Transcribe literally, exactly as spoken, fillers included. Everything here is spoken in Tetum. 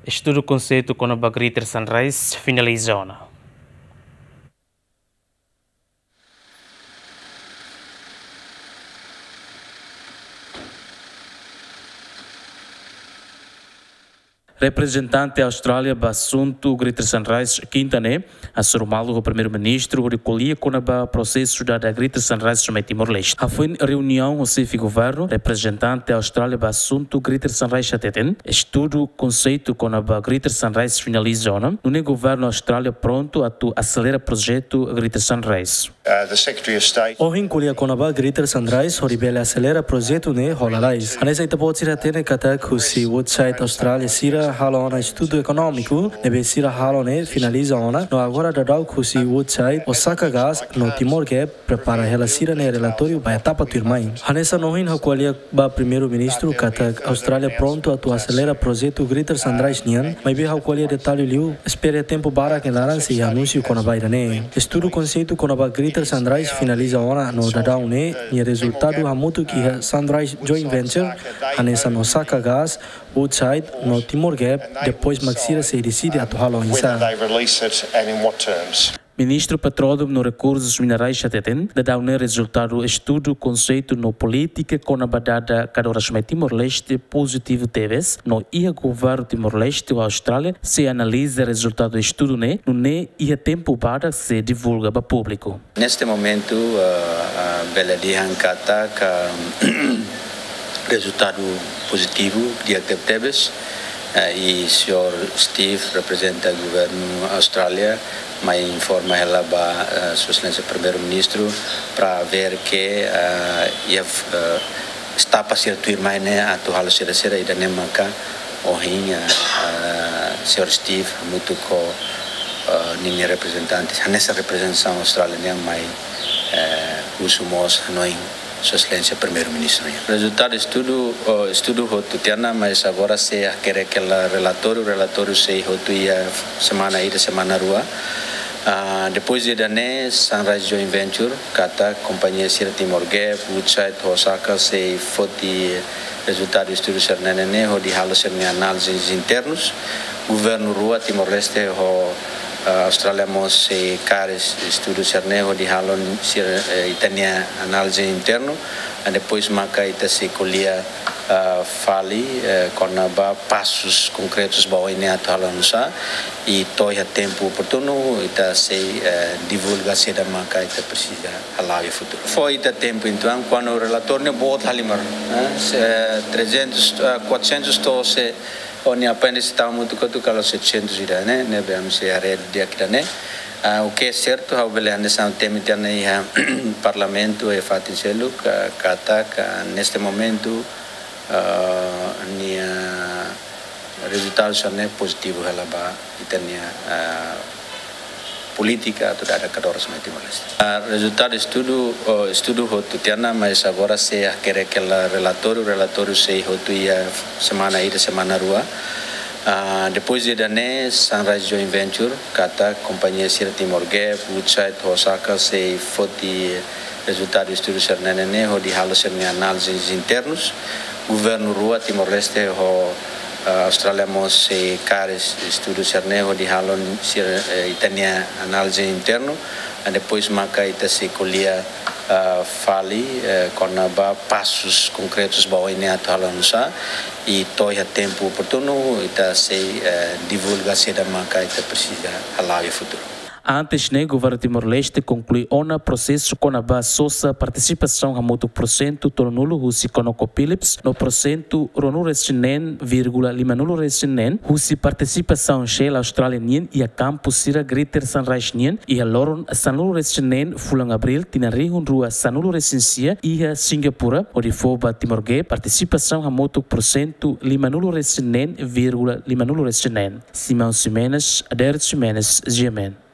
Estudu konseitu kona-ba Greater Sunrise finaliza ona. Reprezentante Austrália ba asuntu Greater Sunrise, kinta ne'e, hasoru malu ho Primeiru-Ministru hodi ko'alia kona-ba prosesu dada Greater Sunrise mai Timor-Leste. Hafoin reuniaun ho xefe governu, reprezentante Austrália ba asuntu Greater Sunrise hateten, estudu konseitu kona-ba Greater Sunrise finaliza ona, nune'e governu Austrália prontu atu aselera projetu Greater Sunrise. Uh, the Secretary of State. Ohin ko'alia kona-ba Greater Sunrise hodi bele aselera projetu ne'e hola lalais. Hanesan ita-boot sira hatene katak husi Woodside Austrália sira halo ona estudu ekonómiku, ne'ebé sira halo ne'e finaliza ona, no agora daudaun husi Woodside, Osaka Gas, no Timor Gap, prepara hela sira-nia relatóriu ba etapa tuirmai. Hanesan ohin ha'u ko'alia ba Primeiru-Ministru katak Austrália prontu atu aselera projetu Greater Sunrise nian, maibé ha'u ko'alia detallu liu, espera tempu badak nia laran sei anúnsiu kona-ba ida-ne'e. Estudu konseitu kona-ba Greater Sunrise finaliza ona no daudaun ne'e, nia rezultadu hamutuk iha Sunrise Joint Venture, hanesan Osaka Gas, Woodside, no Timor Gap, depois mak sira sei deside atu halo oinsá. Whether they release it and in what terms. Ministru Petróleu no Rekursus Minerais hateten, daudaun ne'e rezultadu estudu konseitu no polítika kona-ba dada kadoras mai Timor-Leste pozitivu tebes, no iha governu Timor-Leste ho Austrália sei analiza rezultadu estudu ne'e, nune'e iha tempu badak sei divulga ba públiku. Neste momento, ah, ah, bele dehan katak rezultadu pozitivu, di'ak tebetebes. Eh, i señór Steve reprezenta governu Austrália, mai informa hela ba, eh, Sua Exelénsia Primeiru-Ministru para ver ke, eh, iha, eh, etapa sira tuirmai ne'e atu halo saida-saida, ida-ne'e maka ohin, eh, eh, señór Steve hamutuk ho, eh, ninia reprezentante, hanesan reprezentasaun Austrália nian mai, eh, husu mós hanoin Sua Exelénsia Primeiru-Ministru nian. Rezultadu estudu, oh, estudu hotu tiha ona, mas agora sei hakerek hela relatóriu, relatóriu sei hotu iha semana ida, semana rua. Ah, depois de ida-ne'e, Sunrise Joint Venture, katak kompañia sira Timor Gap, Woodside, Osaka, sei foti rezultadu estudu sira-ne'e ne'e, hodi halo sira-nia análises internus. Governu rua, Timor-Leste ho, ah, Austrália mós sei kaer estudu sira-ne'e, hodi halo sira, eh, ita-nia análise internu. Ah, depois maka ita sei ko'alia, ah, fali, eh, kona-ba pasus konkretus ba oin ne'e atu halo oinsá. I to'o iha tempu oportunu, ita sei, eh, divulga saida maka ita presiza hala'o iha futuru. Fó ita tempu entaun, kuandu relatóriu ne'e boot halimar, eh, se, eh, trezentos, eh, quatrocentos to'o se, o nia apéndice tau hamutuk hotu kala setecentos ida-ne'e, ne'ebé ami sei haree di'ak ida-ne'e. Ah, o que é certo, ha'u bele hanesan temi tiha ona iha Parlamentu, iha fatin seluk, ka, katak, neste momento, ah, nia rezultadu sira-ne'e pozitivu hela ba ita-nia, ah, polítika atu dada kadoras mai Timor-Leste. Ah, rezultadu estudu, oh, estudu hotu tiha ona, mas agora sei hakerek hela relatóriu, relatóriu sei hotu iha semana ida, semana rua. Ah, depois de ida-ne'e, Sunrise Joint Venture, katak kompañia sira Timor Gap, Woodside, Osaka, sei foti rezultadu estudu sira-ne'e ne'e, hodi halo sira-nia análises internus. Governu rua, Timor-Leste ho, eh, Austrália mós sei kaer estudu sira-ne'e, hodi halo sira, eh, ita-nia análise internu. Ah, depois maka ita sei ko'alia, ah, fali, eh, kona-ba pasus konkretus ba oin ne'e atu halo oinsá. I to'o iha tempu oportunu, ita sei, eh, divulga saida maka ita presiza hala'o iha futuru. Antes ne'e, governu Timor-Leste konklui ona prosesu kona-ba sosa partisipasaun hamutuk porsentu tolunulu husi ConocoPhillips, no porsentu ruanulu-resin-neen vírgula limanulu-resin-neen husi partisipasaun Shell Austrália nian iha kampu sira Greater Sunrise nian, iha loron sanulu-resin-neen fulan Abríl tinan rihun rua sanulu-resin-sia iha Singapura, hodi fó ba Timor Gap partisipasaun hamutuk porsentu limanulu-resin-neen vírgula limanulu-resin-neen. Simão Ximenes, Adérito Ximenes, G M N.